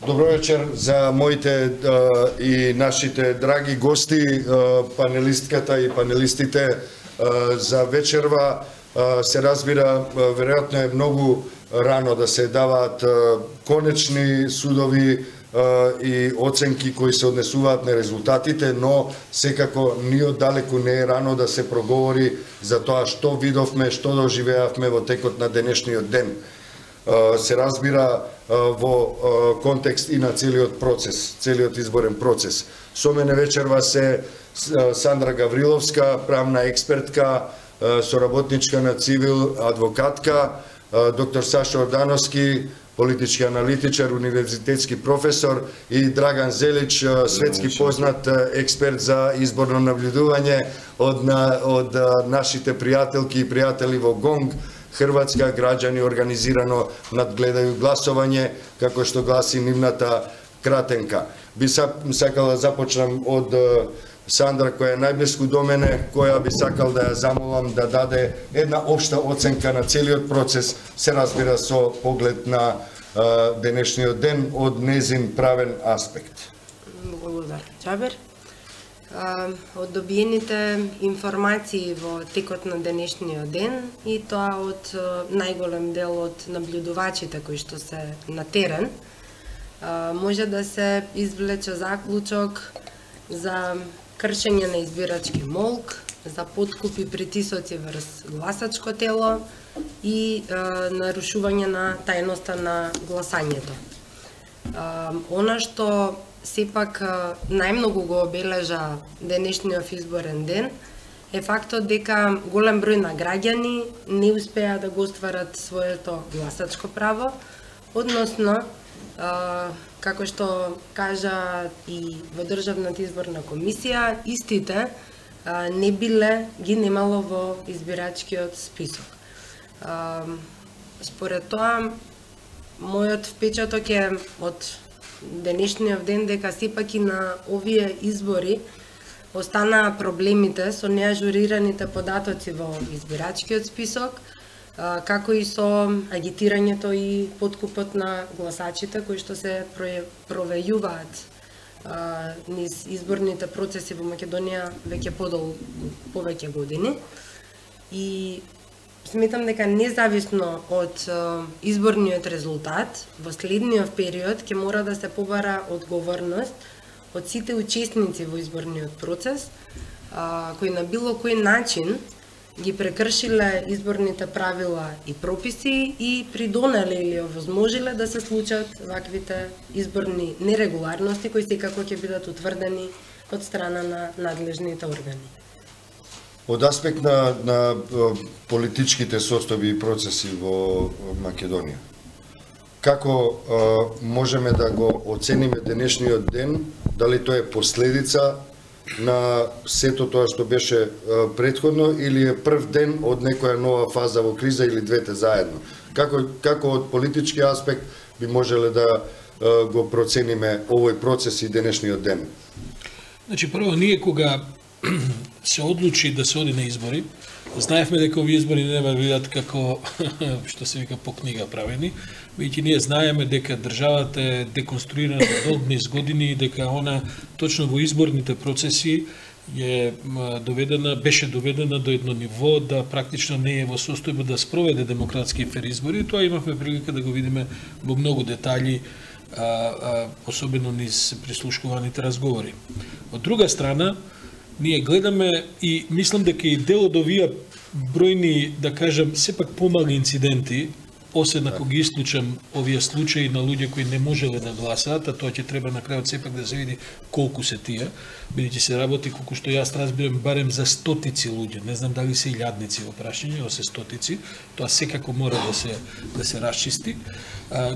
Добро вечер за моите и нашите драги гости, панелистката и панелистите за вечерва. Се разбира, веројатно е многу рано да се даваат конечни судови и оценки кои се однесуваат на резултатите, но секако ни оддалеку не е рано да се проговори за тоа што видовме, што доживеавме во текот на денешниот ден. Се разбира во контекст и на целиот процес, целиот изборен процес. Со мене вечерва се Сандра Гавриловска, правна експертка, соработничка на Цивил, адвокатка, доктор Сашо Ордановски, политички аналитичар, универзитетски професор, и Драган Зелич, светски познат експерт за изборно наблюдување од нашите пријателки и пријатели во ГОНГ, Хрватска, граѓани организирано надгледају гласување, како што гласи нивната кратенка. Би сакал да започнам од Сандра, која е најблиску до мене, која би сакал да ја замолам да даде една општа оценка на целиот процес, се разбира со поглед на денешниот ден од незин правен аспект. Благодарам, Джабер. Од добиените информации во текот на денешниот ден и тоа од најголем дел од наблюдувачите кои што се на терен, може да се извлече заклучок за кршење на избирачки молк, за подкуп и притисоци врз гласачко тело и нарушување на тајноста на гласањето. Она што сепак најмногу го обележа денешниот изборен ден е фактот дека голем број на граѓани не успеа да го остварат своето гласачко право, односно, како што кажа и во Државната изборна комисија, истите не биле, ги немало во избирачкиот список. Според тоа, мојот впечаток е од денешниот ден дека сепак и на овие избори останаа проблемите со неажурираните податоци во избирачкиот список, како и со агитирањето и подкупот на гласачите кои што се провејуваат низ изборните процеси во Македонија веќе повеќе години. И сметам дека независно од изборниот резултат, во следниот период ќе мора да се побара одговорност од сите учесници во изборниот процес, кои на било кој начин ги прекршиле изборните правила и прописи и придонеле или овозможиле да се случат ваквите изборни нерегуларности кои секако ќе бидат утврдени од страна на надлежните органи. Од аспект на политичките состојби и процеси во Македонија, како можеме да го оцениме денешниот ден, дали тоа е последица на сето тоа што беше претходно или е прв ден од некоја нова фаза во криза или двете заедно? Како од политички аспект би можеле да го процениме овој процес и денешниот ден? Значи, прво, ние кога се одлучи да се оди на избори, знаевме дека овие избори нема да бидат како што се вика по книга правени, веќе ние знаеме дека државата е деконструирана долг низ години и дека она точно во изборните процеси беше доведена до едно ниво да практично не е во состојба да спроведе демократски фер избори. Тоа имавме прилика да го видиме во многу детали, особено низ прислушкуваните разговори. Од друга страна, ние гледаме и мислам дека и дел од овие бројни, да кажам, сепак помали инциденти, освен ако ги исклучам овие случаи на луѓе кои не можеле да гласаат, а тоа ќе треба на крајот сепак да се види колку се тие, бидејќи се работи, колку што јас разбирам, барем за стотици луѓе, не знам дали се илјадници во прашање, но се стотици, тоа секако мора да се расчисти,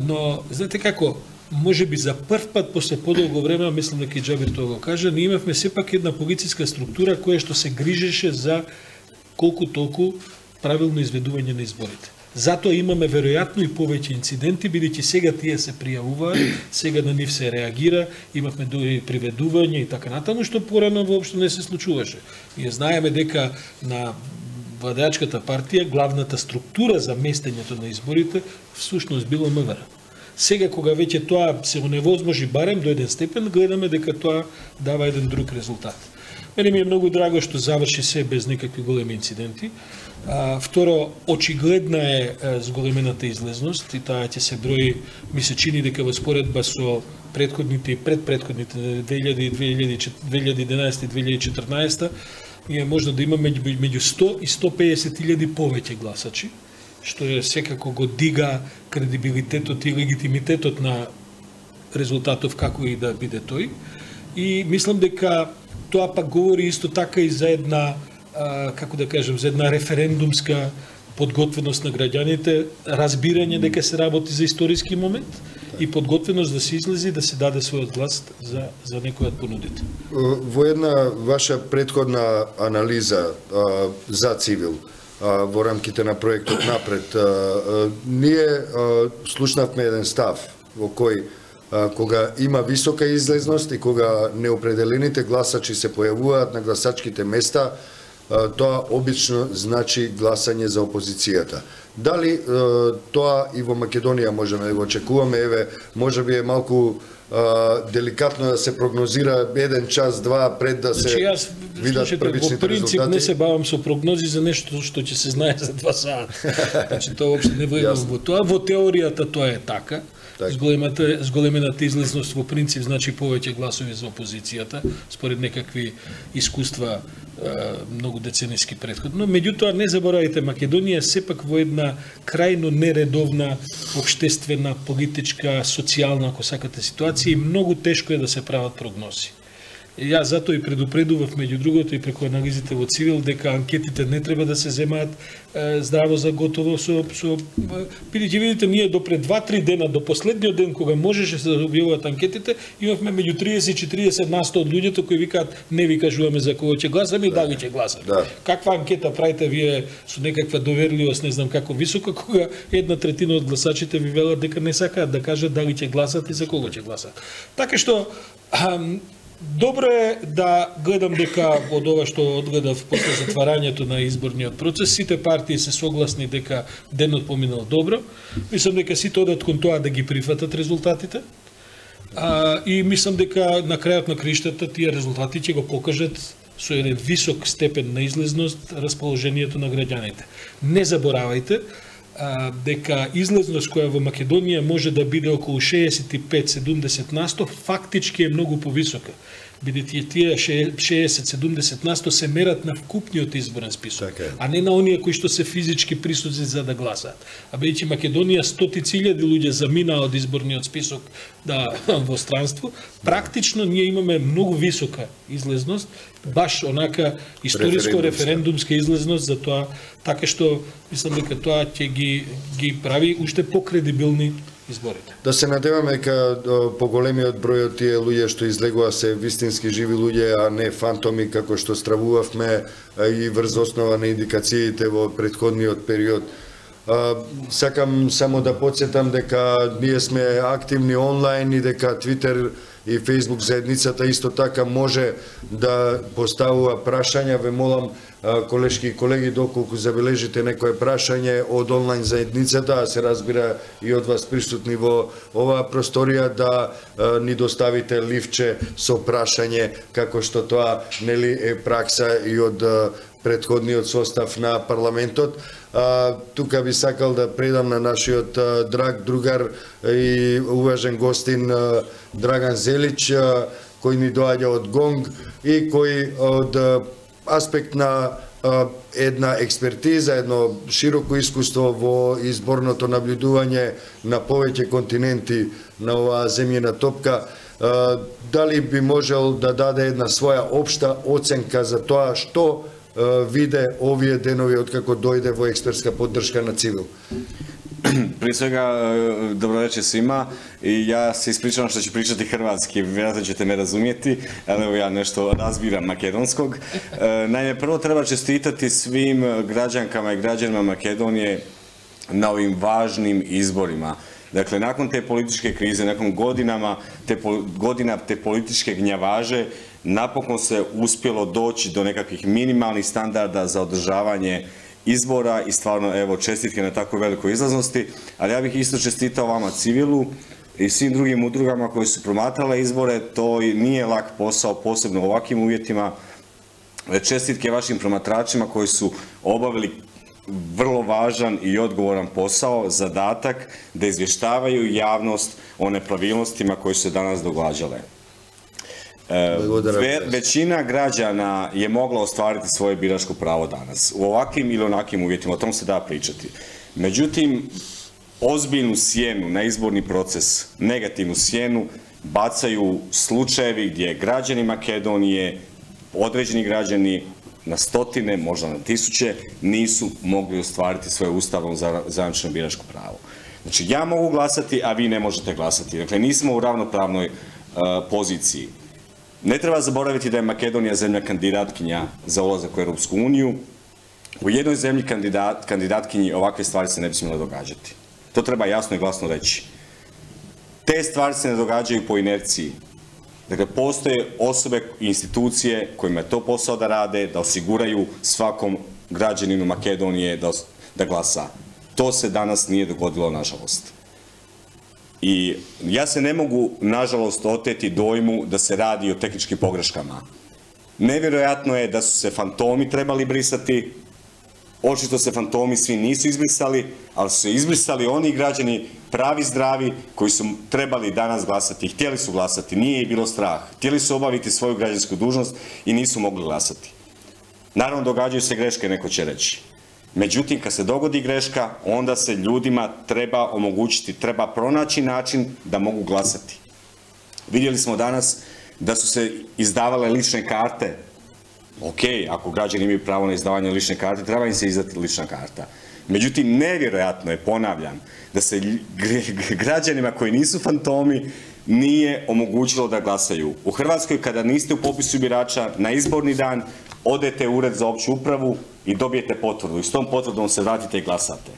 но знаете како, може би за прв пат после подолго време, мислам дека и Џабир тоа го кажа, ние имавме сепак една полициска структура која што се грижеше за колку толку правилно изведување на изборите. Затоа имаме веројатно и повеќе инциденти, бидејќи сега тие се пријавуваат, сега на нив се реагира, имавме дури приведување и така натаму, што порано воопшто не се случуваше. Ние знаеме дека на владеачката партија главната структура за местењето на изборите всушност било МВР. Сега кога веќе тоа се оневозможи барем до еден степен, гледаме дека тоа дава еден друг резултат. Мене ми е многу драго што заврши се без никакви големи инциденти. Второ, очигледна е зголемената излезност и таа ќе се брои, ми се чини дека во споредба со претходните и предпретходните 2011 и 2014 ние можно да имаме меѓу 100 и 150 илјади повеќе гласачи, што е секако го дига кредибилитетот и легитимитетот на резултатов како и да биде тој. И мислам дека тоа пак говори исто така и за една, како да кажем, за една референдумска подготвеност на граѓаните, разбирање дека се работи за историски момент и подготвеност да се излези да се даде својот глас за некој од понудите. Во една ваша предходна анализа за Цивил во рамките на проектот Напред, ние слушнавме еден став во кој кога има висока излезност и кога неопределените гласачи се појавуваат на гласачките места, тоа обично значи гласање за опозицијата. Дали тоа и во Македонија можеме да го очекуваме? Еве, можеби е малку деликатно да се прогнозира еден час, два пред да се видат првичните резултати. Во принцип не се бавам со прогнози за нешто што ќе се знае за 2 сата. Значи тоа воопшто не влегувам во тоа. Во теоријата тоа е така. Зголемената излезност во принцип значи повеќе гласови за опозицијата, според некакви искуства многу децениски претходно. Меѓутоа, не заборавајте, Македонија сепак во една крајно нередовна општествена, политичка, социјална, ако сакате, ситуација и многу тешко е да се прават прогнози. Јас затоа и предупредував, меѓу другото, и преку анализите во Цивил, дека анкетите не треба да се земаат здраво за готово бидејќи видите, ние до пред 2-3 дена, до последниот ден кога можеше да се објавуваат анкетите, имавме меѓу 30 и 40% од луѓето кои викаат не ви кажуваме за кого ќе гласаме и дали ќе гласаме. Каква анкета правите вие со некаква доверливост, не знам како висока, кога 1/3 од гласачите ви велат дека не сакаат да кажат дали ќе гласат и за кого ќе гласат. Така што добро е да гледам дека од ова што одгледав после затварањето на изборниот процес, сите партии се согласни дека денот поминал добро. Мислам дека сите одат кон тоа да ги прифатат резултатите. И мислам дека на крајот на криштата тие резултати ќе го покажат со еден висок степен на излезност расположението на граѓаните. Не заборавајте дека излезност која во Македонија може да биде околу 65-70%, фактички е многу повисока. Бидејќи тие 60-70% се мерат на вкупниот изборен список, а не на оние кои што се физички присутни за да гласаат. А бидејќи Македонија стотици илјади луѓе заминаа од изборниот список во странство, практично ние имаме многу висока излезност, баш онака историско референдумска излезност, за тоа, така што мислам дека тоа ќе ги прави уште покредибилни изборите. Да се надеваме дека поголемиот број од тие луѓе што излегува се вистински живи луѓе, а не фантоми како што стравувавме и врз основа на индикациите во претходниот период. Сакам само да подсетам дека ние сме активни онлайн и дека Твитер и Фејсбук заедницата исто така може да поставува прашања. Ве молам, колешки и колеги, доколку забележите некое прашање од онлайн заедницата, а се разбира и од вас присутни во оваа просторија, да ни доставите ливче со прашање, како што тоа нели е пракса и од претходниот состав на парламентот. Тука би сакал да предам на нашиот драг другар и уважен гостин Драган Зелич, кој ни доаѓа од ГОНГ и кој од аспект на една експертиза, едно широко искуство во изборното наблюдување на повеќе континенти на оваа земјина топка, дали би можел да даде една своја општа оценка за тоа што виде овие денови откако дојде во експертска поддршка на Цивил? Пред свега, добро вечер свима. И ја се испричавам што ќе причати хрватски, веројатно ќе ме разумети, але ја нешто разбирам македонског. Најме прво треба честитати свим граѓанкама и граѓанima Македонија на овим важним изборима. Dakle, nakon te političke krize, nakon godina te političke gnjavaže, napokon se uspjelo doći do nekakvih minimalnih standarda za održavanje izbora i stvarno evo čestitke na tako velikoj izlaznosti, ali ja bih isto čestitao vama civilu i svim drugim udrugama koji su promatrale izbore. To nije lak posao, posebno u ovakvim uvjetima. Čestitke vašim promatračima koji su obavili vrlo važan i odgovoran posao, zadatak da izvještavaju javnost o nepravilnostima koje su se danas događale. Većina građana je mogla ostvariti svoje biračko pravo danas, u ovakvim ili onakvim uvjetima, o tom se da pričati. Međutim, ozbiljnu sjenu na izborni proces, negativnu sjenu, bacaju slučajevi gdje građani Makedonije, određeni građani na stotine, možda na tisuće, nisu mogli ostvariti svoje ustavom zajamčeno biračko pravo. Znači, ja mogu glasati, a vi ne možete glasati. Dakle, nismo u ravnopravnoj poziciji. Ne treba zaboraviti da je Makedonija zemlja kandidatkinja za ulazak u Europsku uniju. U jednoj zemlji kandidatkinji ovakve stvari se ne bi smjele događati. To treba jasno i glasno reći. Te stvari se ne događaju po inerciji. Dakle, postoje osobe i institucije kojima je to posao da rade, da osiguraju svakom građaninu Makedonije da glasa. To se danas nije dogodilo, nažalost. I ja se ne mogu, nažalost, oteti dojmu da se radi o tehničkim pogreškama. Nevjerojatno je da su se fantomi trebali brisati, očito se fantomi svi nisu izbrisali, ali su se izbrisali oni građani pravi, zdravi, koji su trebali danas glasati, htjeli su glasati, nije ih bilo strah, htjeli su obaviti svoju građansku dužnost i nisu mogli glasati. Naravno, događaju se greške, neko će reći. Međutim, kad se dogodi greška, onda se ljudima treba omogućiti, treba pronaći način da mogu glasati. Vidjeli smo danas da su se izdavale lične karte. Ok, ako građani imaju pravo na izdavanje lične karte, treba im se izdati lična karta. Međutim, nevjerojatno je, ponavljam, da se građanima koji nisu fantomi nije omogućilo da glasaju. U Hrvatskoj, kada niste u popisu birača, na izborni dan odete u ured za opću upravu i dobijete potvrdu i s tom potvrdom se vratite i glasate.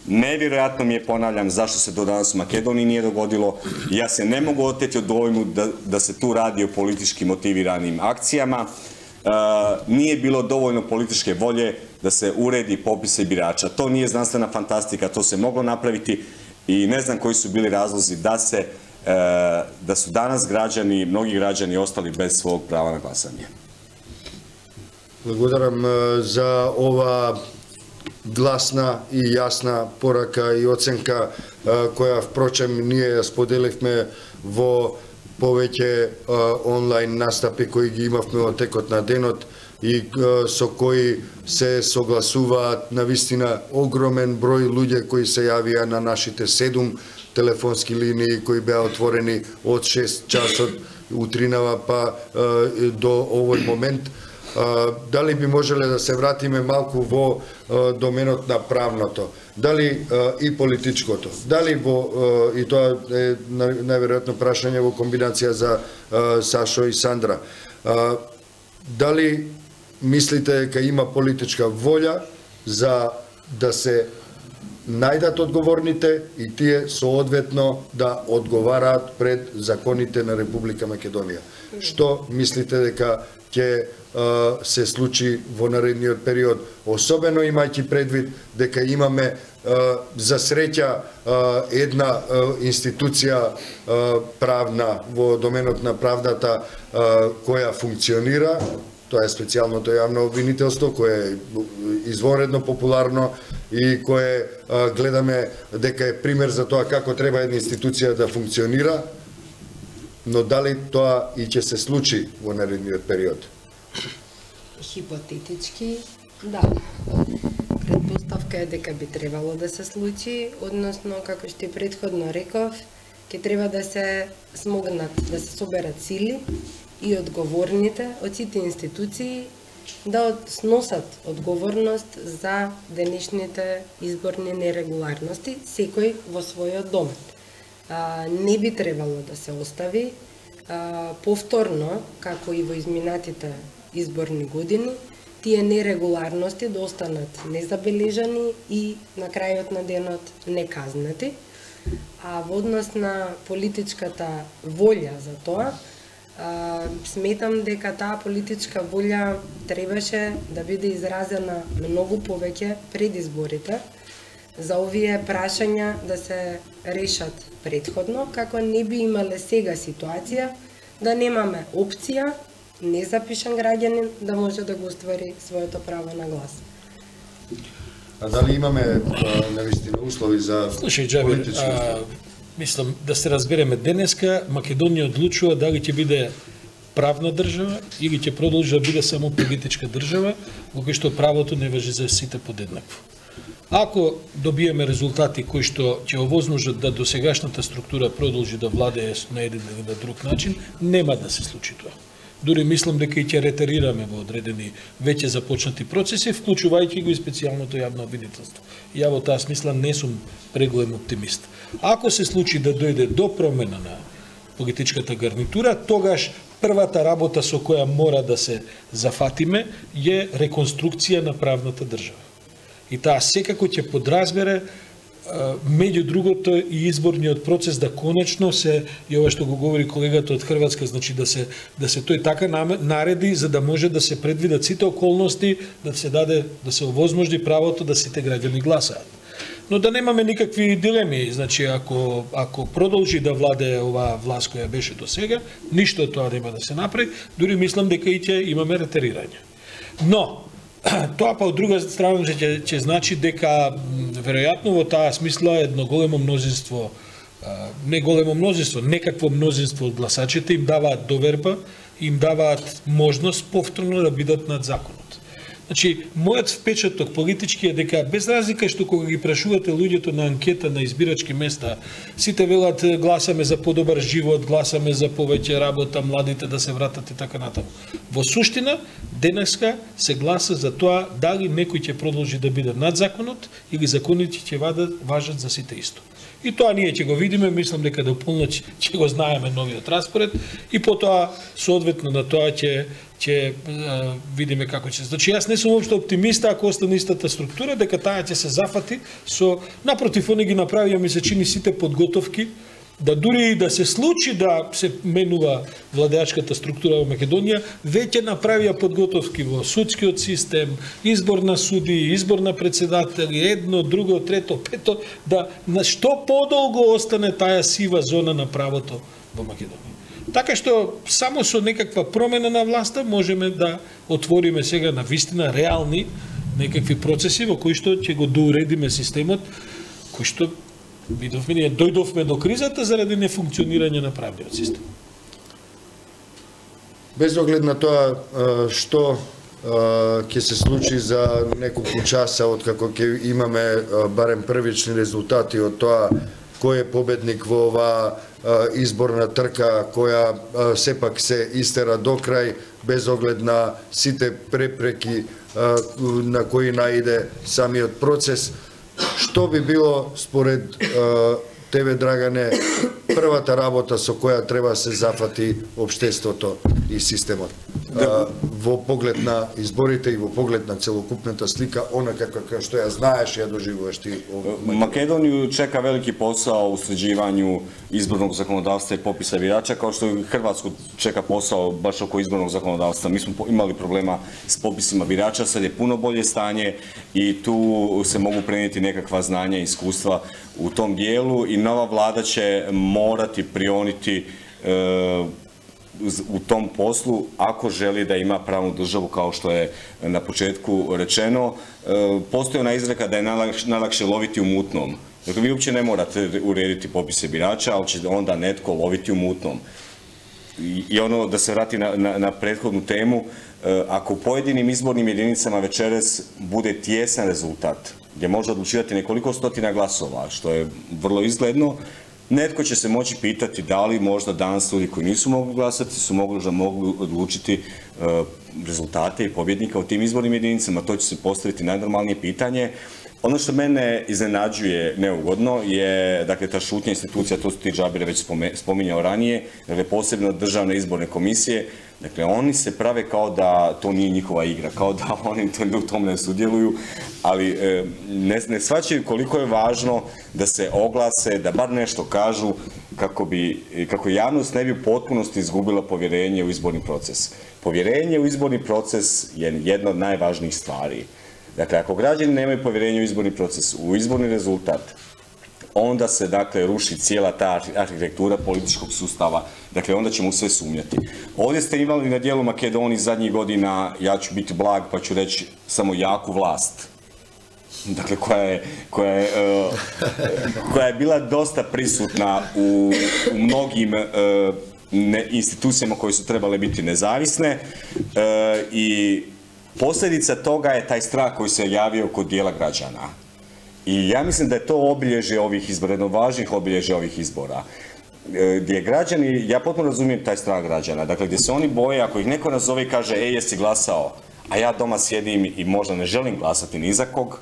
Nevjerojatno mi je, ponavljam, zašto se do danas u Makedoniji nije dogodilo. Ja se ne mogu oteti od dojmu da se tu radi o politički motiviranim akcijama. Nije bilo dovoljno političke volje da se uredi popise birača. To nije znanstvena fantastika, to se moglo napraviti i ne znam koji su bili razlozi da su danas mnogi građani ostali bez svog prava na glasanje. Благодарам за ова гласна и јасна порака и оценка која впрочем ние ја споделивме во повеќе онлайн настапи кои ги имавме во текот на денот и со кои се согласуваат навистина огромен број луѓе кои се јавија на нашите 7 телефонски линии кои беа отворени од 6 часот утринава па до овој момент. Дали би можеле да се вратиме малку во доменот на правното, дали и политичкото, дали и тоа е најверојатно прашање во комбинација за Сашо и Сандра, дали мислите дека има политичка волја за да се најдат одговорните и тие соодветно да одговараат пред законите на Република Македонија? Што мислите дека ќе се случи во наредниот период, особено имајќи предвид дека имаме за среќа една институција правна во доменот на правдата која функционира, тоа е специјалното јавно обвинителство кое е изворедно популарно и кое гледаме дека е пример за тоа како треба една институција да функционира, но дали тоа и ќе се случи во наредниот период? Хипотетички, да. Предпоставка е дека би требало да се случи, односно, како што и претходно реков, ќе треба да се смогнат, да се соберат сили и одговорните од сите институции да сносат одговорност за денешните изборни нерегуларности, секој во својот домет. Не би требало да се остави повторно, како и во изминатите изборни години, тие нерегуларности да останат незабележани и на крајот на денот неказнати. А во однос на политичката волја за тоа, Сметам дека таа политичка волја требаше да биде изразена многу повеќе пред изборите, за овие прашања да се решат предходно, како не би имале сега ситуација да немаме опција незапишан граѓанин да може да го оствари своето право на глас. А дали имаме навистина услови за политички избори? Мислам да се разбереме денеска, Македонија одлучува дали ќе биде правна држава или ќе продолжи да биде само политичка држава, во кој што правото не важи за сите подеднакво. Ако добиеме резултати кои што ќе овозможат да досегашната структура продолжи да владее на еден или на друг начин, нема да се случи тоа. Дури мислам дека и ќе ретерираме во одредени веќе започнати процеси, вклучувајќи го и специјалното јавно обвинителство. Ја во таа смисла не сум преголем оптимист. Ако се случи да дојде до промена на политичката гарнитура, тогаш првата работа со која мора да се зафатиме е реконструкција на правната држава. И таа секако ќе подразбере меѓу другото и изборниот процес да конечно се, и ова што го говори колегата од Хрватска, значи да се тој така нареди за да може да се предвидат сите околности, да се даде, да се овозможи правото да сите граѓани гласаат. Но да немаме никакви дилеми, значи ако продолжи да владее оваа власт која беше до сега, ништо од тоа нема да се направи, дури мислам дека и ќе имаме ретерирање. Но тоа па од друга страна ќе значи дека веројатно во таа смисла едно големо мнозинство, не големо мнозинство, некакво мнозинство од гласачите им даваат доверба, им даваат можност повторно да бидат над законот. Значи, мојот впечаток политички е дека без разлика што кога ги прашувате луѓето на анкета на избирачки места, сите велат гласаме за подобар живот, гласаме за повеќе работа, младите да се вратат и така натаму. Во суштина, денеска се гласа за тоа дали некој ќе продолжи да биде над законот или законите ќе важат за сите исто. И тоа ние ќе го видиме, мислам дека до полноќ ќе го знаеме новиот распоред и потоа соодветно на тоа ќе видиме како ќе. Значи јас не сум уопшто оптимиста ако остане истата структура дека таа ќе се зафати со напротив они ги направија ми се чини сите подготовки да дури и да се случи да се менува владеачката структура во Македонија, веќе направија подготовки во судскиот систем, избор на суди, избор на председатели, едно, друго, трето, пето, да на што подолго остане таа сива зона на правото во Македонија. Така што само со некаква промена на власта можеме да отвориме сега на вистина реални некакви процеси во кои што ќе го доуредиме системот, кој што ние дојдовме до кризата заради нефункционирање на правниот систем. Без оглед на тоа што ќе се случи за неколку часа од како ќе имаме барем првични резултати од тоа кој е победник во оваа изборна трка која сепак се истера до крај без оглед на сите препреки на кои наиде самиот процес. Што би било според тебе, Драгане, првата работа со која треба да се зафати општеството и системот во поглед на изборите и во поглед на целокупната слика, она како што ја знаеш и ја доживуваш ти? Македонiju чека велики посао у среđivanju изборnog законодавства и пописа бирача, као што и Хрватску чека посао баш око изборnog законодавства. Mi smo imali problema s popisima birača, sad je puno bolje stanje i tu se mogu prenijeti nekakva znanja i iskustva u tom dijelu i nova vlada će morati prioniti u tom poslu ako želi da ima pravnu državu kao što je na početku rečeno. Postoji ona izreka da je najlakše loviti u mutnom. Dakle, vi uopće ne morate urediti popise birača, ali će onda netko loviti u mutnom. I ono, da se vrati na prethodnu temu, ako u pojedinim izbornim jedinicama večeras bude tjesan rezultat, gdje može odlučivati nekoliko stotina glasova, što je vrlo izgledno, netko će se moći pitati da li možda danas ljudi koji nisu mogli glasati su mogli odlučiti rezultate i pobjednika u tim izbornim jedinicama. To će se postaviti najnormalnije pitanje. Ono što mene iznenađuje neugodno je, dakle, ta šutnja institucija, to su ti Džabire već spominjao ranije, dakle, posebno državne izborne komisije, dakle, oni se prave kao da to nije njihova igra, kao da oni u tom ne sudjeluju, ali ne shvaćaju koliko je važno da se oglase, da bar nešto kažu kako javnost ne bi u potpunosti izgubila povjerenje u izborni proces. Povjerenje u izborni proces je jedna od najvažnijih stvari. Dakle, ako građani nemaju povjerenje u izborni proces, u izborni rezultat, onda se, dakle, ruši cijela ta arhitektura političkog sustava, dakle, onda ćemo sve sumnjati. Ovdje ste imali na dijelu Makedoniji zadnjih godina, ja ću biti blag pa ću reći samo jaku vlast, dakle, koja je bila dosta prisutna u mnogim institucijama koje su trebale biti nezavisne i posljedica toga je taj strah koji se javio kod dijela građana. I ja mislim da je to obilježje ovih izbora, jedno važnih obilježja ovih izbora. Gdje građani, ja potpuno razumijem taj strah građana, dakle gdje se oni boje, ako ih neko nazove i kaže jesi glasao, a ja doma sjedim i možda ne želim glasati ni za kog,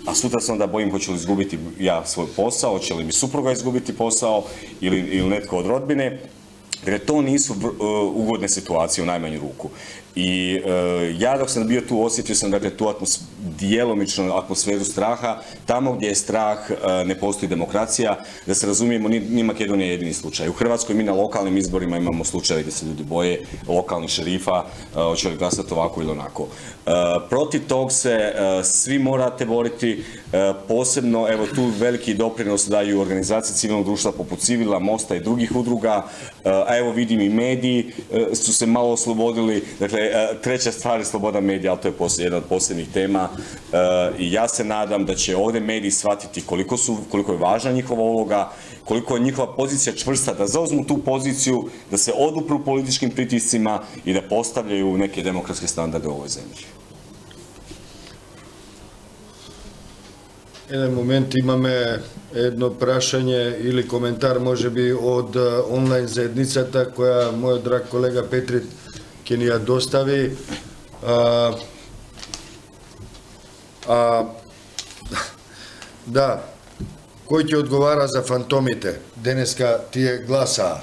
a sutra se onda bojim hoću li izgubiti ja svoj posao, hoće li mi supruga izgubiti posao ili netko od rodbine. Dakle, to nisu ugodne situacije u najmanju ruku. I ja dok sam bio tu osjetio sam, dakle, tu djelomičnu atmosferu straha. Tamo gdje je strah ne postoji demokracija. Da se razumijemo, ni Makedonija je jedini slučaj. U Hrvatskoj mi na lokalnim izborima imamo slučaje gdje se ljudi boje lokalnih šerifa, hoće li glasati ovako ili onako. Protiv tog se svi morate boriti, posebno, evo tu veliki doprinos daju organizacije civilnog društva poput Civila, Mosta i drugih udruga, a evo vidim i mediji su se malo oslobodili, dakle treća stvar je sloboda medija, ali to je jedna od posljednjih tema i ja se nadam da će ovdje mediji shvatiti koliko je važna njihova uloga, koliko je njihova pozicija čvrsta, da zauzmu tu poziciju, da se odupru političkim pritiscima i da postavljaju neke demokratske standarde u ovoj zemlji. Jedan moment imаме едно прашање или коментар можеби од онлайн заедницата која мојот драг колега Петрит ќе ни ја достави. Да, кој ќе одговара за фантомите? Денеска тие гласаа.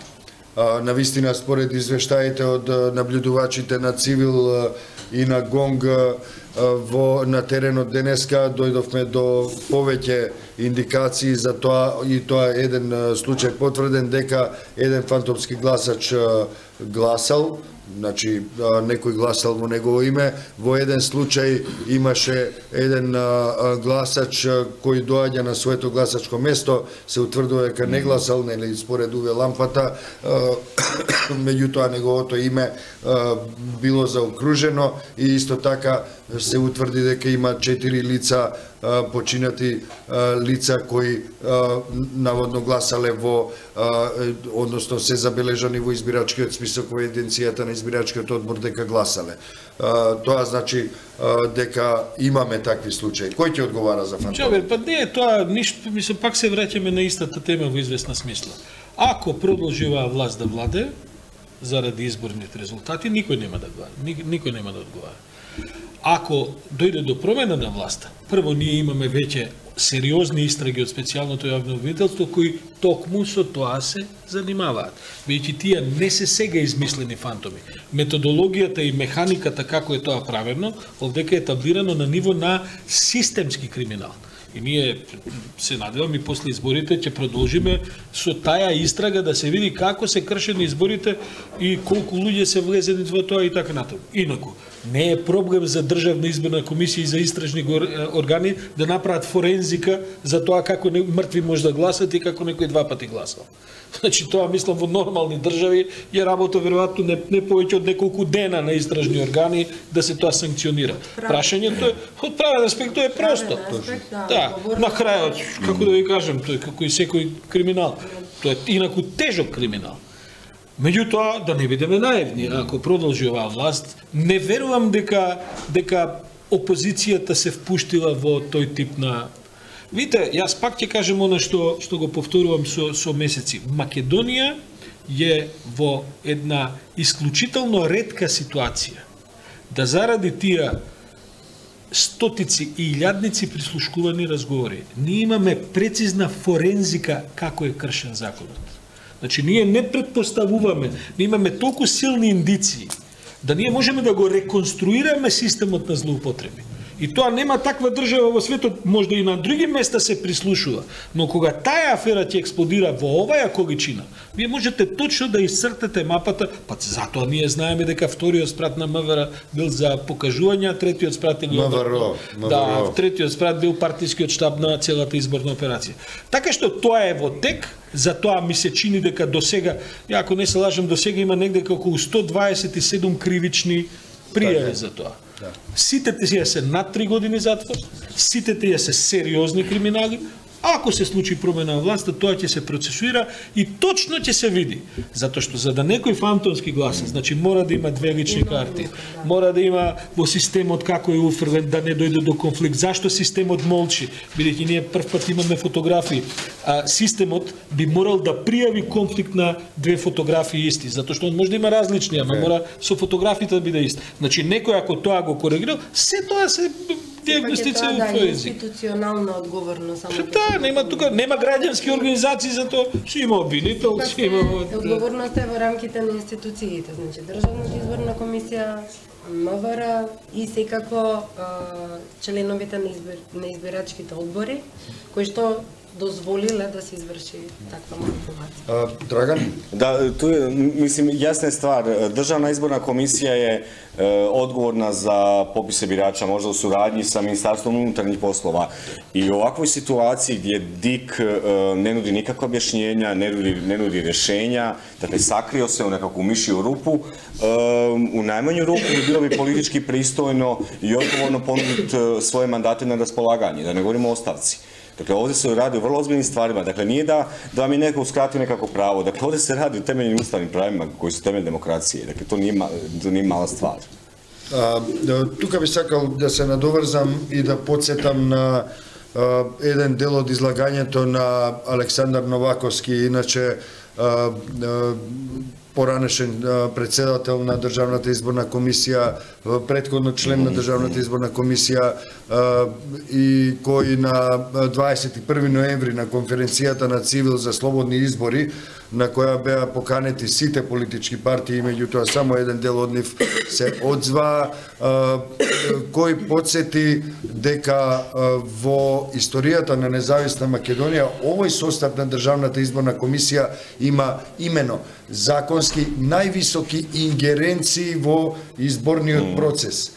Навистина, според извештаите од наблюдувачите на Цивил и на Гонг на теренот денеска дојдовме до повеќе индикации за тоа и тоа е еден случај потврден дека еден фантомски гласач гласал, значи некој гласал во негово име. Во еден случај имаше еден гласач кој доаѓа на своето гласачко место, се утврдува дека не гласал, нели според УВ лампата, меѓутоа неговото име било заокружено и исто така се утврди дека има 4 лица починати лица кои наводно гласале во, односно се забележани во избирачкиот список во единицијата на избирачкиот одбор дека гласале. Тоа значи дека имаме такви случаи. Кој ќе одговара за фантомите? Чабер, па не е тоа ништо, мислам, пак се враќаме на истата тема во известна смисла. Ако продолжи оваа власт да владе заради изборните резултати, никој нема да одговара. Ако дојде до промена на власта, прво ние имаме веќе сериозни истраги од специјалното јавно обвинителство кои токму со тоа се занимаваат. Веќе тие не се сега измислени фантоми. Методологијата и механиката како е тоа правено, овдека е етаблирано на ниво на системски криминал. И ние се надевам и после изборите ќе продолжиме со таа истрага да се види како се кршени изборите и колку луѓе се влезени во тоа и така натаму. Инаку, не е проблем за Државна изборна комисија и за истражни органи да направат форензика за тоа како мртви може да гласат и како некој 2 пати гласал. Значи тоа мислам во нормални држави е работа веројатно не повеќе од неколку дена на истражни органи да се тоа санкционира. Прашањето е од правен аспект тоа е просто. Да, на крајот, како да ви кажам, тој како и секој криминал, тоа е инаку тежок криминал. Меѓутоа, да не бидеме наивни, ако продолжи оваа власт, не верувам дека опозицијата се впуштила во тој тип на... Видите, јас пак ќе кажем оно што го повторувам со месеци. Македонија е во една исклучително ретка ситуација да заради тие стотици и илјадници прислушкувани разговори, ние имаме прецизна форензика како е кршен законот. Значи, ние не предпоставуваме, ние имаме толку силни индиции, да ние можеме да го реконструираме системот на злоупотреби. И тоа нема таква држава во светот, можда и на други места се прислушува, но кога таа афера ќе експлодира во оваа количина, вие можете точно да исцртате мапата, па затоа ние знаеме дека вториот спрат на МВР бил за покажување, третиот спрат МВР. Да, третиот спрат бил партискиот штаб на целата изборна операција. Така што тоа е во тек, затоа ми се чини дека досега, ја ако не се лажам, досега има негде околу 127 кривични пријави за тоа. Сите тие се над 3 години затвор, сите тие се сериозни криминали. Ако се случи промена на власта, тоа ќе се процесуира и точно ќе се види. Затоа што за да некој фантомски гласа, значи мора да има две лични карти, мора да има во системот како е уфрлен, да не дојде до конфликт. Зашто системот молчи? Бидејќи ние прв пат имаме фотографии, а системот би морал да пријави конфликт на две фотографии исти, затоа што он може да има различни, ама мора со фотографите да биде ист. Значи некој ако тоа го коригира, се тоа се диагностиција во тој език. Институционална одговорност само. Нема тука, нема граѓански организации за тоа. Си има обвинител, си има... Одговорноста е во рамките на институциите, значи Државната изборна комисија, МВР и секако членовите на избирачките одбори, кои што дозволиле да се изврши таква манипулација. Драган? Да, тоа мислим јасна е ствар. Државна изборна комисија е одговорна за пописе бирача, можда у сурадњи со Министарством унутренjih poslova. И у оваквој ситуација где ДИК не нуди никаква објашњења, не нуди решења, dakle сакрио се у некакvu мишју рупу, у најмању руку би било би политички пристојно и одговорно понудити своје мандати на располагање, да не говоримо о оставци. Dakle, ovdje se radi o vrlo ozbiljnim stvarima. Dakle, nije da vam je neko uskratio nekako pravo. Dakle, ovdje se radi o temeljnim ustavnim pravima koji su temelj demokracije. Dakle, to nije mala stvar. Тука би сакал да се надоврзам и да подсетам на еден дел од излагањето на Александар Новаковски, иначе поранешен председател на Државната изборна комисија, претходно член на Државната изборна комисија и кој на 21 ноември на конференцијата на Цивил за слободни избори, на која беа поканети сите политички партии, меѓутоа само еден дел од нив се одзва, кој подсети дека во историјата на независна Македонија овој состав на Државната изборна комисија има имено законски највисоки ингеренции во изборниот процес.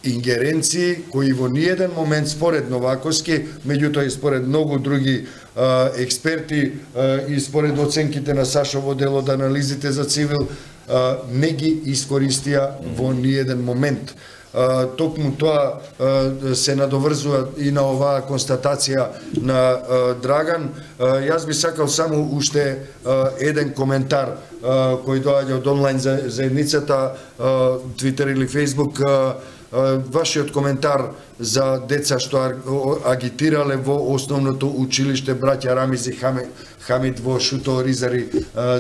Ингеренции кои во ниеден момент според Новаковски, меѓутоа и според многу други експерти и според оценките на Сашо во дел од анализите за Цивил, не ги искористија во ниеден момент. Токму тоа се надоврзува и на оваа констатација на Драган. Јас би сакал само уште еден коментар кој доаѓа од онлайн заедницата, Твитер или Фейсбук, вашиот коментар за деца што агитирале во основното училиште браќа Рамиз и Хамид во Шуто Ризари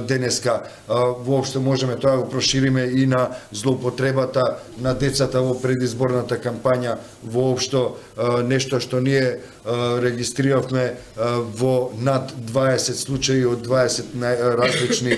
денеска. Воопшто можеме тоа го прошириме и на злоупотребата на децата во предизборната кампања, воопшто нешто што ние регистриравме во над 20 случаи од 20 различни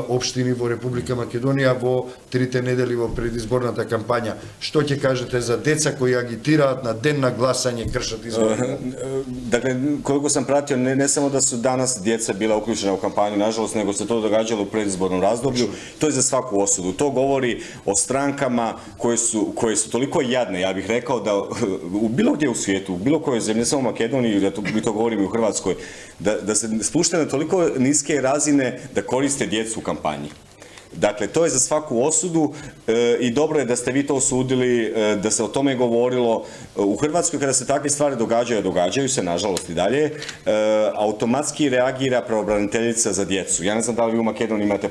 општини во Република Македонија во 3 недели во предизборната кампања. Што ќе кажете за деца кои агитираат на ден на гласање, кршат избори? Dakle, koliko sam pratio, ne samo da su danas djeca bila uključena u kampanju, nažalost, nego se to događalo u predizbornom razdoblju. To je za svaku osudu. To govori o strankama koje su toliko jadne, ja bih rekao, da bilo gdje u svijetu, u bilo kojoj zemlji, ne samo u Makedoniji, ja to govorim i u Hrvatskoj, da se spuštaju na toliko niske razine da koriste djecu u kampanji. Dakle, to je za svaku osudu i dobro je da ste vi to osudili, da se o tome govorilo. U Hrvatskoj kada se takve stvari događaju, događaju se, nažalost i dalje, automatski reagira pravobraniteljica za djecu. Ja ne znam da li vi u Makedoniji imate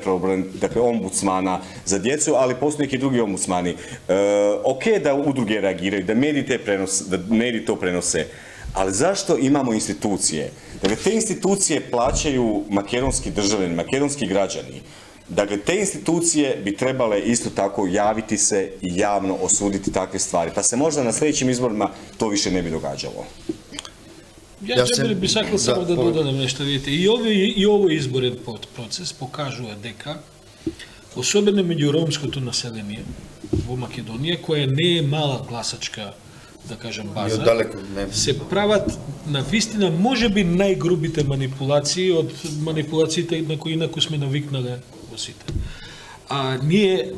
ombudsmana za djecu, ali postoje neki drugi ombudsmani. Ok da udruge reagiraju, da mediji to prenose, ali zašto imamo institucije? Dakle, te institucije plaćaju makedonski državljani, makedonski građani. Dakle, te institucije bi trebale isto tako javiti se i javno osuditi takve stvari, pa se možda na sljedećim izborima to više ne bi događalo. Ja bi sакал само да додадам нешто, видите, и овој изборен процес покажува дека, особено меѓу ромското население во Македонија, која не е мала гласачка да кажам, И база, оддалеку, не. се прават на вистина можеби најгрубите манипулации од манипулациите на кои инаку сме навикнале во сите. Ние,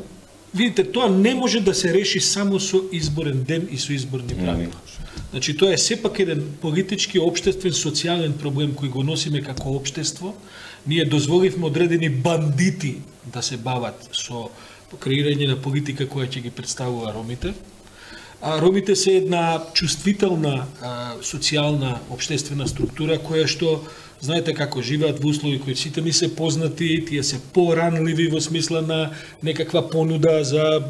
видите, тоа не може да се реши само со изборен ден и со изборни правила. Значи, тоа е сепак еден политички, општествен, социјален проблем кој го носиме како општество. Ние дозволивме одредени бандити да се бават со креирање на политика која ќе ги представува ромите. Ромите се една чувствителна социјална општествена структура која што, знаете како живеат во услови кои сите ни се познати, тие се поранливи во смисла на некаква понуда за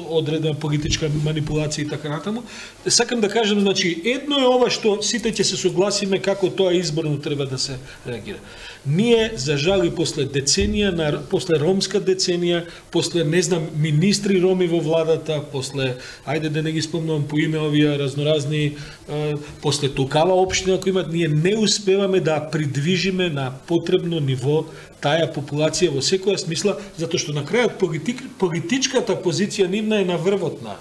одредена политичка манипулација и така натаму. Сакам да кажам, значи, едно е ова што сите ќе се согласиме како тоа изборно треба да се реагира. Ние, за жал, и после деценија, после ромска деценија, после, не знам, министри роми во владата, после, ајде да не ги спомнувам по име овие разноразни, после токава општина кои имат, ние не успеваме да придвижиме на потребно ниво таа популација во секоја смисла, затоа што на крајот политичката позиција нивна е на врвот на,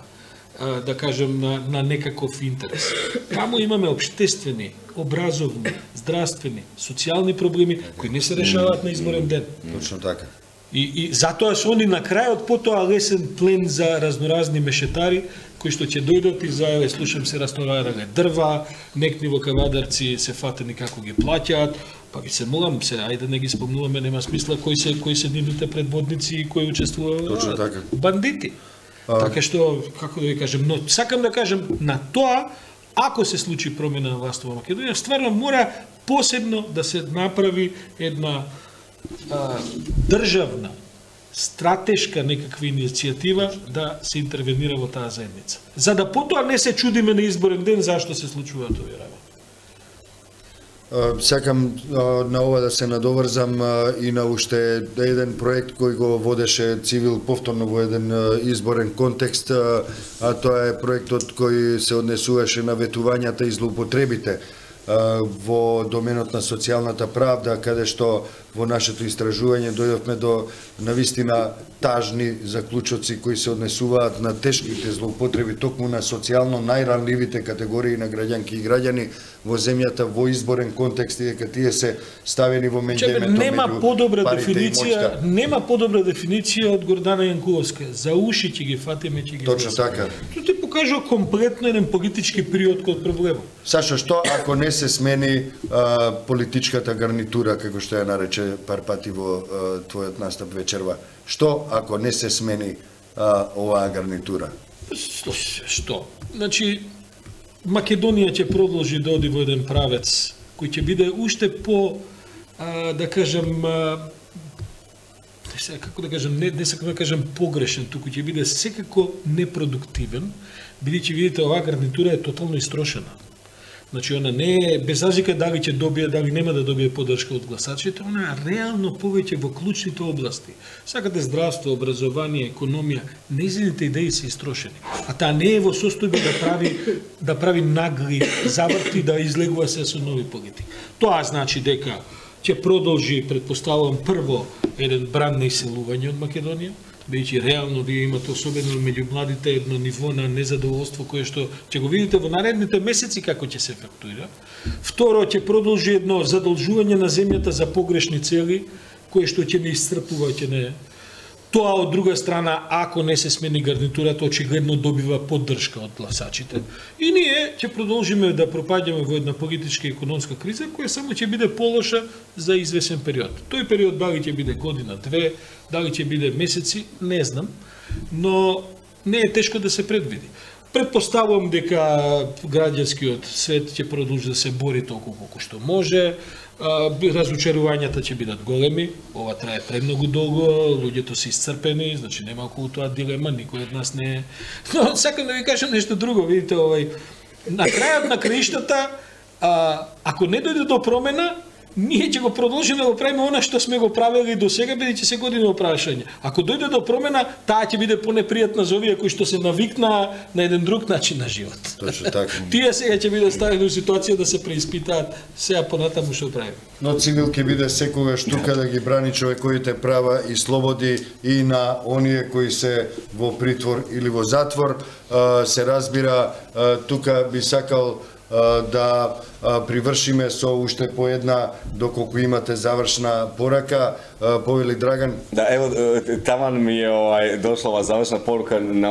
да кажем, на некаков интерес. Таму имаме општествени, образовни, здравствени, социјални проблеми кои не се решаваат на изборен ден. Точно така. И затоа се они на крајот потоа лесен плен за разноразни мешетари кои што ќе дојдат и зајаве, слушам се растоварале дрва, некни во Кавадарци се фатени како ги плаќаат, па ги се молам се, ајде не ги спомнуваме, нема смисла кои се нивните предводници и кои учествуваат. Точно така. Бандити. Така што, како да ви кажем, но сакам да кажем на тоа, ако се случи промена на власт во Македонија, стварно мора посебно да се направи една државна, стратешка некаква иницијатива да се интервенира во таа заедница. За да потоа не се чудиме на изборен ден зашто се случуваат овие работи. Сакам на ова да се надоврзам и на уште еден проект кој го водеше Цивил повторно во еден изборен контекст, а тоа е проектот кој се однесуваше на ветувањата и злоупотребите во доменот на социјалната правда, каде што во нашето истражување дојдовме до навистина тажни заклучоци кои се однесуваат на тешките злоупотреби токму на социјално најранливите категории на граѓанки и граѓани во земјата во изборен контекст и дека тие се ставени во меѓуемето меѓу парите и моќта. Нема подобра дефиниција од Гордана Јанкуловска. За уши ќе ги фатиме, ќе ги Точно така. Тоа ти покажува комплетно еден политички период код проблемот. Сашо, што ако не се смени политичката гарнитура, како што ја нарече пар пати во твојот настап вечерва? Што ако не се смени оваа гарнитура? Што? Значи, Македонија ќе продолжи да оди во еден правец кој ќе биде уште по, да кажем, како да кажем, не сакам да кажем погрешен, туку ќе биде секако непродуктивен, бидејќи видите оваа гарнитура е тотално истрошена. Значи, она не е без разлика дали ќе добие, дали нема да добие поддршка од гласачите, она е реално повеќе во клучните области. Сакате здравство, образование, економија, нејзините идеи се истрошени. А таа не е во состојба да прави нагли заврти, да излегува се со нови политики. Тоа значи дека ќе продолжи, предпоставувам, прво еден бран на иселување од Македонија, бидејќи реално вие имате особено меѓу младите едно ниво на незадоволство кое што ќе го видите во наредните месеци како ќе се ефектуира. Второ, ќе продолжи едно задолжување на земјата за погрешни цели, кое што ќе не исцрпува, ќе не. Тоа од друга страна, ако не се смени гарнитурата, очигледно добива поддршка од гласачите. И ние ќе продолжиме да пропаѓаме во една политичка и економска криза, која само ќе биде полоша за извесен период. Тој период дали ќе биде година, две, дали ќе биде месеци, не знам, но не е тешко да се предвиди. Предпоставувам дека граѓанскиот свет ќе продолжи да се бори толку колку што може. Разочарувањата ќе бидат големи, ова трае премногу долго, луѓето се исцрпени, значи нема околу тоа дилема, никој од нас не е. Но сакам да ви кажам нешто друго, видите, на крајот на краиштата, ако не дојде до промена, ние ќе го продолжиме да го правиме она што сме го правели до сега, бидејќи се години опрашање. Ако дојде до промена, таа ќе биде понепријатна за овие кои што се навикнаа на еден друг начин на живот. Точно така. Тие сега ќе бидат ставени во ситуација да се преиспитаат сега понатаму што правиме. Но цивил ќе биде секогаш тука да ги брани човековите права и слободи и на оние кои се во притвор или во затвор. Се разбира, тука би сакал да привршиме со уште по една, доколку имате завршна порака, повели Драган. Да, ево, таман ми е дошла ова завршна порука на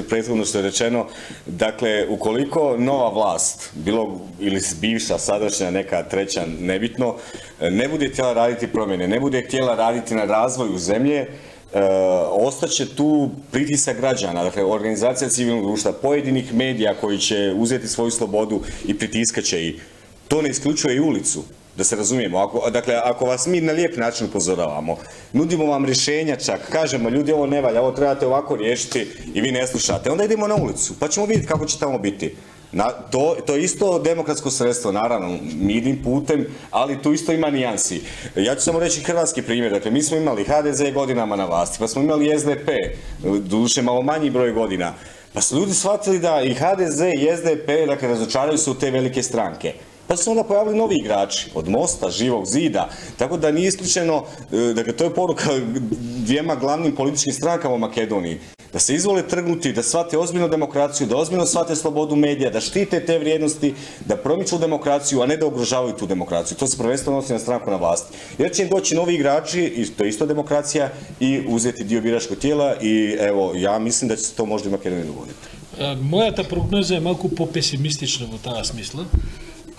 претходно што е речено. Дакле, уколико нова власт, било или бивша, садашња, нека треќа, небитно, не буде htjela радити промени, не буде htjela радити на развоју земје, остаче ту притисак граѓана, dakle организација цивилnog друштва, поединих медија кои ќе узети своју слободу и притискаче и то не исклучува и улицу, да се разумиемо. Ако вас ми на лијеп начин упозоравамо, нудимо вам решења чак, кажемо људи ово не валја, ово требате овако риешити и ви не слушате, онда идемо на улицу, па ќемо видети како ќе тамо бити. To je isto demokratsko sredstvo, naravno, mirnim putem, ali tu isto ima nijansi. Ja ću samo reći hrvatski primjer, dakle, mi smo imali HDZ godinama na vlasti, pa smo imali SDP, doduše malo manji broj godina, pa su ljudi shvatili da i HDZ i SDP, dakle, razočaraju se u te velike stranke. Pa su se onda pojavili novi igrači, od Mosta, Živog zida, tako da nije isključeno, dakle, to je poruka dvijema glavnim političkim strankama u Makedoniji, da se izvole trgnuti, da shvate ozbiljno demokraciju, da ozbiljno shvate slobodu medija, da štite te vrijednosti, da promiču demokraciju, a ne da ugrožavaju tu demokraciju. To se prvenstveno odnosi na stranku na vlasti. Jer će im doći novi igrači, i to je isto demokracija, i uzeti dio biračkog tijela i evo, ja mislim da će se to možda i Makedoniji dogoditi. Мојата прогноза е малку попесимистична во таа смисла.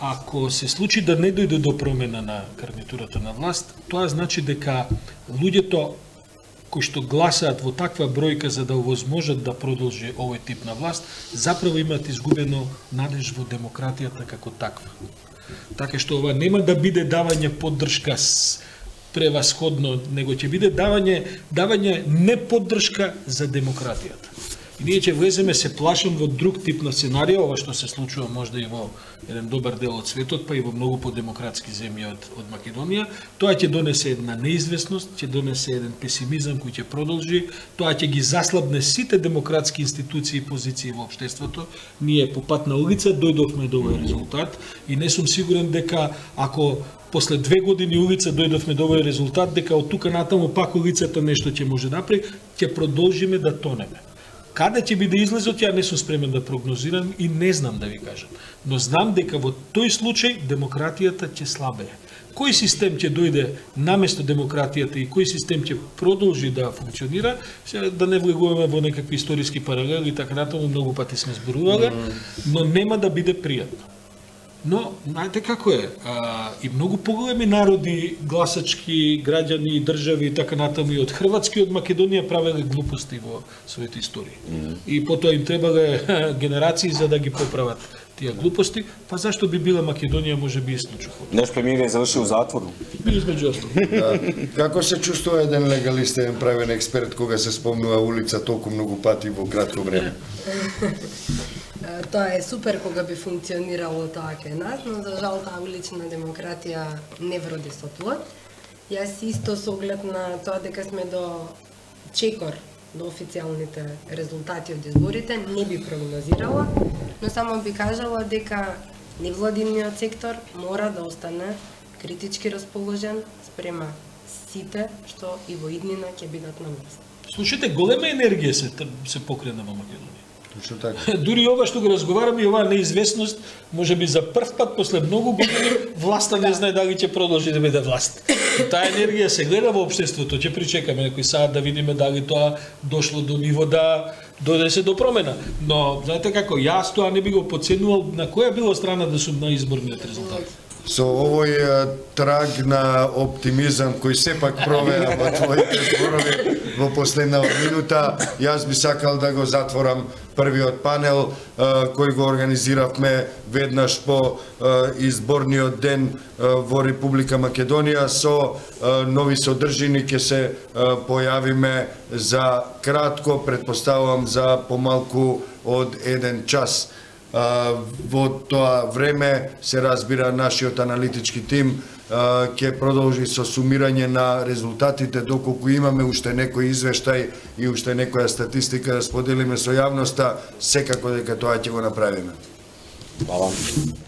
Ако се случи да не дојде до промена на гарнитурата на власт, тоа значи дека луѓето кои што гласаат во таква бројка за да овозможат да продолжи овој тип на власт, заправо имаат изгубено надеж во демократијата како таква. Така што ова нема да биде давање поддршка превасходно, него ќе биде давање не поддршка за демократијата. И ние ќе влеземе, се плашам, во друг тип на сценарија, ова што се случува можда и во еден добар дел од светот, па и во многу подемократски земји од Македонија. Тоа ќе донесе една неизвестност, ќе донесе еден песимизам кој ќе продолжи, тоа ќе ги заслабне сите демократски институции и позиции во општеството. Ние по пат на улица дојдовме до овој резултат и не сум сигурен дека ако после 2 години улица дојдовме до овој резултат, дека од тука натаму пак улицата нешто ќе може да направи, ќе продолжиме да тонеме. Каде ќе биде излезот, ја не сум спремен да прогнозирам и не знам да ви кажам. Но знам дека во тој случај демократијата ќе слабее. Кој систем ќе дојде наместо демократијата и кој систем ќе продолжи да функционира, да не влегуваме во некакви историски паралели и така натаму, многу пати сме зборувале, но нема да биде пријатно. Но, знаете како е, и многу поголеми народи, гласачки, граѓани, држави и така натаму и од Хрватска и од Македонија правеле глупости во своите истории. И потоа им требале генерации за да ги поправат тие глупости, па зашто би била Македонија можеби и случај? Наш премиер е завршил у затвору. Измеѓу остало. Како се чувствува еден легалист, еден правен експерт кога се спомнува улица толку многу пати во кратко време? Тоа е супер кога би функционирало тоа кај нас, но за жал таа улична демократија не вроди со плод. Јас исто со оглед на тоа дека сме до чекор до официјалните резултати од изборите, не би прогнозирала, но само би кажала дека невладиниот сектор мора да остане критички расположен спрема сите што и во иднина ќе бидат на власт. Слушайте, голема енергија се покрена во Македонија. Точно така. Дури ова што го разговараме и оваа неизвестност, можеби за прв пат после многу години власта не знае дали ќе продолжи да биде власт. Таа енергија се гледа во општеството, ќе причекаме некој саат да видиме дали тоа дошло до ниво да дојде се до промена. Но знаете како, јас тоа не би го подценувал на која било страна да сум на изборниот резултат. Со овој траг на оптимизам кој сепак провеа во твоите зборови во последната минута, јас би сакал да го затворам првиот панел кој го организиравме веднаш по изборниот ден во Република Македонија со нови содржини. Ќе се појавиме за кратко, претпоставувам за помалку од 1 час. Во тоа време се разбира нашиот аналитички тим ќе продолжи со сумирање на резултатите, доколку имаме уште некој извештај и уште некоја статистика да споделиме со јавноста, секако дека тоа ќе го направиме. Хвала.